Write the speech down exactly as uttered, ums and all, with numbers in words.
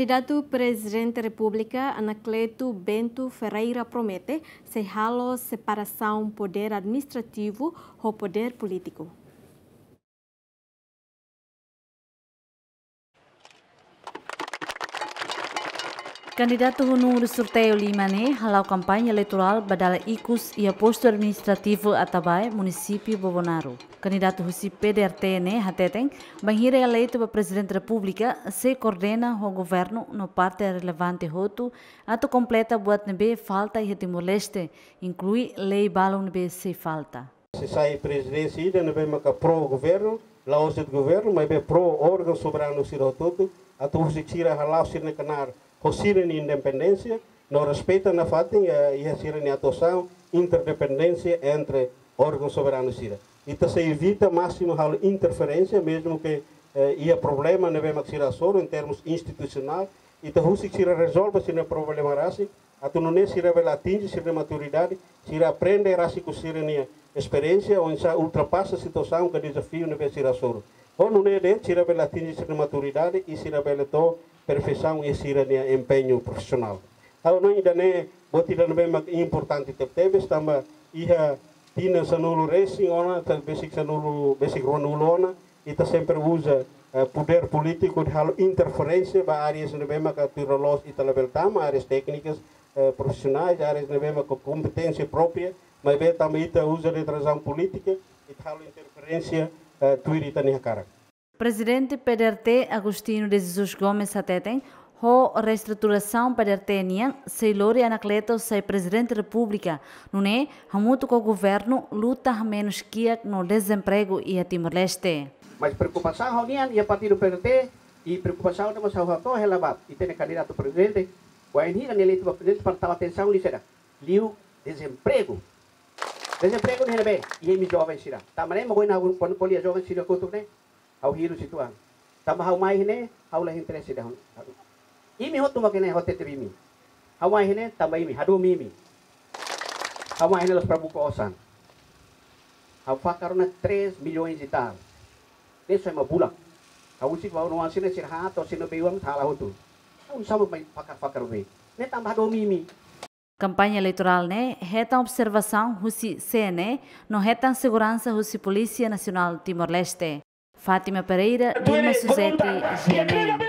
Kandidatu Prezidente Repúblika Anacleto Bento Ferreira promete sei halo separasaun podér administrativu ho podér polítiku. Kandidatu ho númeru sorteiu lima ne'e hala'o kampaña eleitorál ba dala ikus iha postu administrativu Atabae, munisípiu Bobonaro. Kandidatu husi P D R T ne'e hateten, bainhira eleitu ba Prezidente Repúblika, sei koordena ho governu no parte relevante hotu atu kompleta buat ne'ebé falta iha Timor-Leste, inklui lei balun ne'ebé sei falta. Se sai prezidénsia ida ne'ebé maka pro governu, la'ós de'it governu, maibé pro órgaun soberanu sira hotu-hotu, atu husik sira hala'o sira-nia knaar ho sira-nia independénsia, no respeita nafatin, eh, iha sira-nia atuasaun, interdependénsia entre órgaun soberanu sira. Ita sei evita másimu halo interferénsia, mezmu ke, eh, iha problema ne'ebé mak sira hasoru em termos institusionál, ita husik sira rezolve sira-nia problema rasik, atu nune'e sira bele atinje sira-nia maturidade, sira aprende rasik ho sira-nia esperiénsia, oinsá ultrapasa situasaun ka dezafiu ne'ebé sira hasoru. Ho nune'e de'it sira bele atinje sira-nia maturidade i sira bele to'o perfeisaun iha sira-nia empeñu profisionál. Ha'u hanoin ida-ne'e buat ida ne'ebé mak importante tebetebes, tanba iha tinan sanulu resin ona, ta besik sanulu, besik ruanulu ona, ita sempre uza, eh, podér polítiku hodi halo interferénsia ba áreas ne'ebé maka tuir loloos ita labele tama, áreas téknikas, eh, profisionais, áreas ne'ebé maka kompeténsia própria, maibé tanba ita uza de'it razaun polítika, ita halo interferénsia, eh, tuir ita-nia hakarak. Prezidente P D R T Agostinho de Jesus Gomes hateten, ho reestruturasaun P D R T nian, sei lori Anacleto sai Prezidente Repúblika, nune'e hamutuk ho governu luta hamenus kiak no dezempregu iha Timor-Leste. Mas preokupasaun ha'u-nian iha partidu P D R T, i preokupasaun ida mós ha'u hato'o hela ba ita-nia kandidatu prezidente, bainhira nia eleitu ba prezidente para tau atensaun liu saida? Liu dezempregu. Dezempregu ne'e ne'ebé, iha imi joven sira. Tanba ne'e mak ohin ha'u kuandu ko'alia joven sira kotuk ne'e, ha'u hirus uitoan. Tanba ha'u mai iha ne'e, ha'u la interese ida. Imi hotu mak iha ne'e, hotu tebes imi. Ha'u mai iha ne'e, tanba imi, hadomi imi. Ha'u mai iha ne'e la'ós para buka osan. Ha'u fakar ona três milhões e tal. Ne'e só ema bulak. Ha'u husik ba oan sira-ne'e, sira haat, sira-ne'e beiwan, ha'u halo hotu. Ha'u sama mai fakar-fakar be. Ne'e tanba hadomi imi. Kampaña eleitorál ne'e hetan observasaun husi C N E no hetan seguransa husi Polísia Nasionál Timor-Leste. Fátima Pereira, Dilma Suzete, G M N.